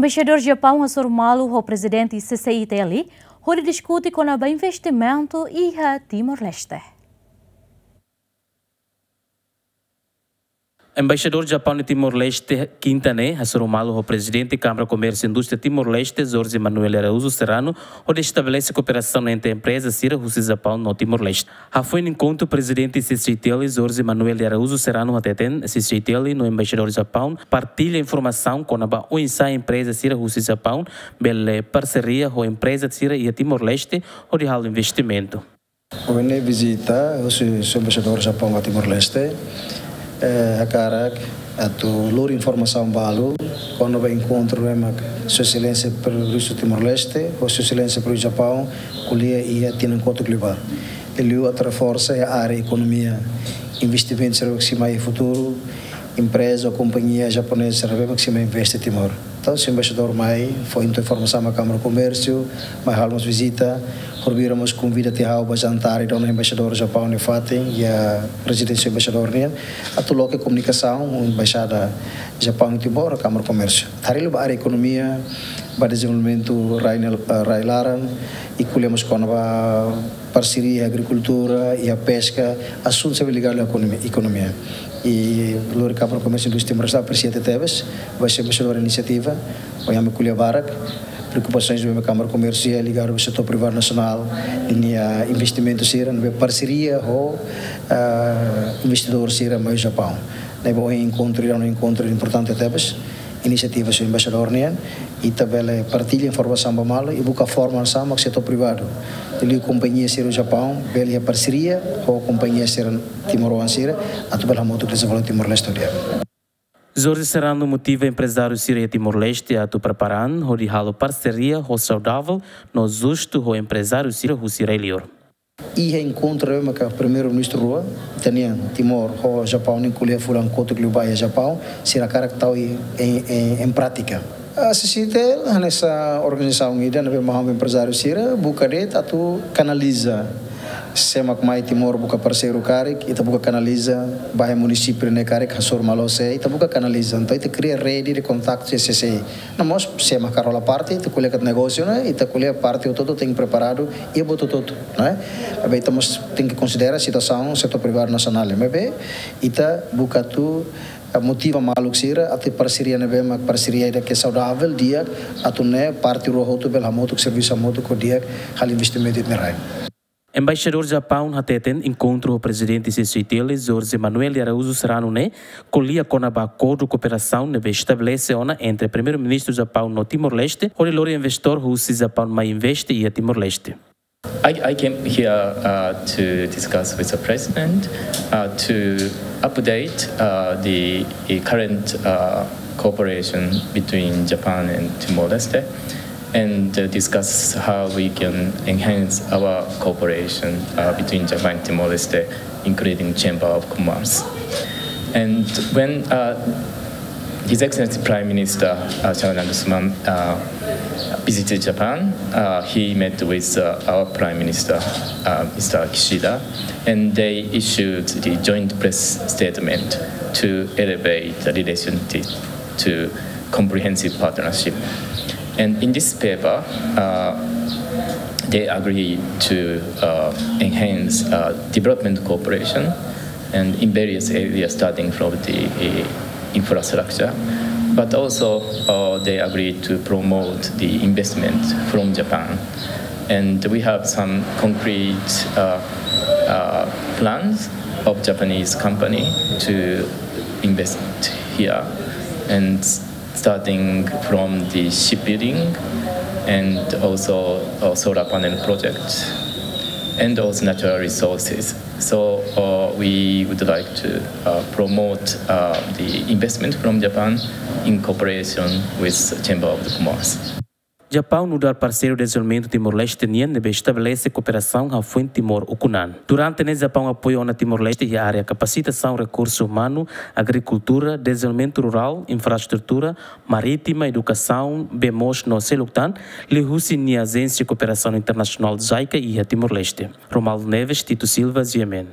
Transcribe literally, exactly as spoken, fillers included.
Embaixadór Japaun hasoru malu ho Prezidente C C I T L, hodi diskute kona-ba investimentu iha Timor-Leste. Embaixadór Japaun iha Timor-Leste, kinta ne'e, hasoru malu ho Prezidente Kámara Komérsiu Indústria Timor-Leste, Jorge Manuel de Araújo Serrano, hodi estabelese kooperasaun entre empreza sira husi Japaun no Timor-Leste. Hafoin enkontru, Prezidente C C I T L, Jorge Manuel de Araújo Serrano, hateten, C C I T L no Embaixadór Japaun partilla informasaun kona-ba oinsá empreza sira husi Japaun bele parseria ho empreza sira iha Timor-Leste hodi halo investimentu. Ohin ne'e vizita husi Embaixadór Japaun ba Timor-Leste, eh, hakarak atu lori informasaun balu kona-ba enkontru ne'ebé mak Sua Exelénsia Primeiru-Ministru Timor-Leste ho Sua Exelénsia Primeiru-Ministru Japaun ko'alia iha tinan kotuk liubá. Liuliu atu reforsa iha área ekonomia, investimentu sira mak sei mai iha futuru, empreza ou kompañia japonesa sira ne'ebé mak sei mai investe Timor. Entaun, se embaixadór mai, fó entaun informasaun ba Kámara Komérsiu, mai halo mós vizita, horibainrua mós konvida tiha ha'u ba jantar, entaun, Embaixadór Japaun nia fatin, iha rezidénsia embaixadór nian, atu loke komunikasaun, Embaixada Japaun iha Timor, Kámara Komérsiu. Harii liu ba área ekonomia, ba dezenvolvimentu rai nel-, eh, rai-laran, i ko'alia mós kona-ba parseria iha agrikultura, iha peska, asuntu sira ligadu ho ekonomi-, ekonomia. I lori Kámara Komérsiu Indústria Timor-Leste apresia tebes, ba Sua Embaixadór inisiativa, ohin ami ko'alia barak, preokupasaun ne'ebé Kámara Komérsiu iha ligadu ho setór privadu nasionál, ninia investimentu sira, ne'ebé parseria ho, ah, investidór sira mai Japaun. Ne'ebé ohin enkontru, iha enkontru importante tebes, inisiativa Sua Embaixadór nian, ita bele partilla informasaun ba malu, i buka forma hanesan mak setór privadu. Liuliu kompañia sira Japaun, bele iha parseria ho kompañia sira timoroan sira, atu bele hamutuk dezenvolve Timor-Leste di'ak. Jorge Serrano motiva emprezáriu sira iha Timor-Leste atu prepara an hodi halo parseria ho saudavel no justu ho emprezáriu sira husi rai-liur. Iha enkontru ne'ebé maka Primeiru-Ministru rua, ita-nian Timor ho Japaun, nia ko'alia fulan kotuk liubá iha Japaun, sira hakarak tau em, em, em prática. Ah, C C I T L hanesan organizasaun ida ne'ebé mai ha'u ho emprezáriu sira, buka de'it atu kanaliza. Sé mak mai Timor buka parseiru karik, ita buka kanaliza, ba iha munisípiu ne'e karik, hasoru malu sé, ita buka kanaliza. Entaun, ita kria rede de kontaktu C C I. No mós, sé mak hakarak hola parte, ita ko'alia katak negósiu, ne'e, ita ko'alia parte hotu-hotu tenke preparadu, iha buat hotu-hotu, ne'e? Maibé ita mós tenke konsidera situasaun setór privadu nasionál, maibé ita buka atu, eh, motiva maluk sira, atu parseria ne'ebé mak parseria ida ke saudavel, di'ak, atu nune'e parte rua hotu bele hamutuk servisu hamutuk ho di'ak, halo investimentu iha rai. Embaixadór Japaun hateten enkontru ho Prezidente C C I T L, Jorge Manuel de Araújo Serrano ne'e, ko'alia kona-ba akordu kooperasaun ne'ebé estabelese ona entre Primeiru-Ministru Japaun no Timor-Leste, hodi lori investidór husi Japaun mai investe iha Timor-Leste. I, I came here, uh, to discuss with the president, uh, to update, uh, the, the current, uh, cooperation between Japan and Timor-Leste, and, uh, discuss how we can enhance our cooperation, uh, between Japan and Timor-Leste, including Chamber of Commerce. And when, uh, His Excellency Prime Minister, uh, Sanae, uh, visited Japan, uh, he met with, uh, our Prime Minister, uh, Mister Kishida, and they issued the joint press statement to elevate the relationship to comprehensive partnership. And in this paper, uh, they agree to, uh, enhance, uh, development cooperation and in various areas, starting from the, uh, infrastructure. But also, uh, they agreed to promote the investment from Japan. And we have some concrete, uh, uh, plans of Japanese company to invest here, and starting from the shipbuilding and also, uh, solar panel project and also natural resources. So, uh, we would like to, uh, promote, uh, the investment from Japan in cooperation with Chamber of Commerce. Japaun nu'udar parseiru dezenvolvimentu Timor-Leste nian ne'ebé estabelese kooperasaun hafoin Timor ukun an. Durante ne'e Japaun apoia ona Timor-Leste iha área kapasitasaun rekursu umanu, agrikultura, dezenvolvimentu rurál, infraestrutura, marítima, edukasaun, bee moos no seluk tan, liuhusi nia Ajénsia Kooperasaun Internasionál JICA iha Timor-Leste. Romualdo Neves, Tito Silva, G M N.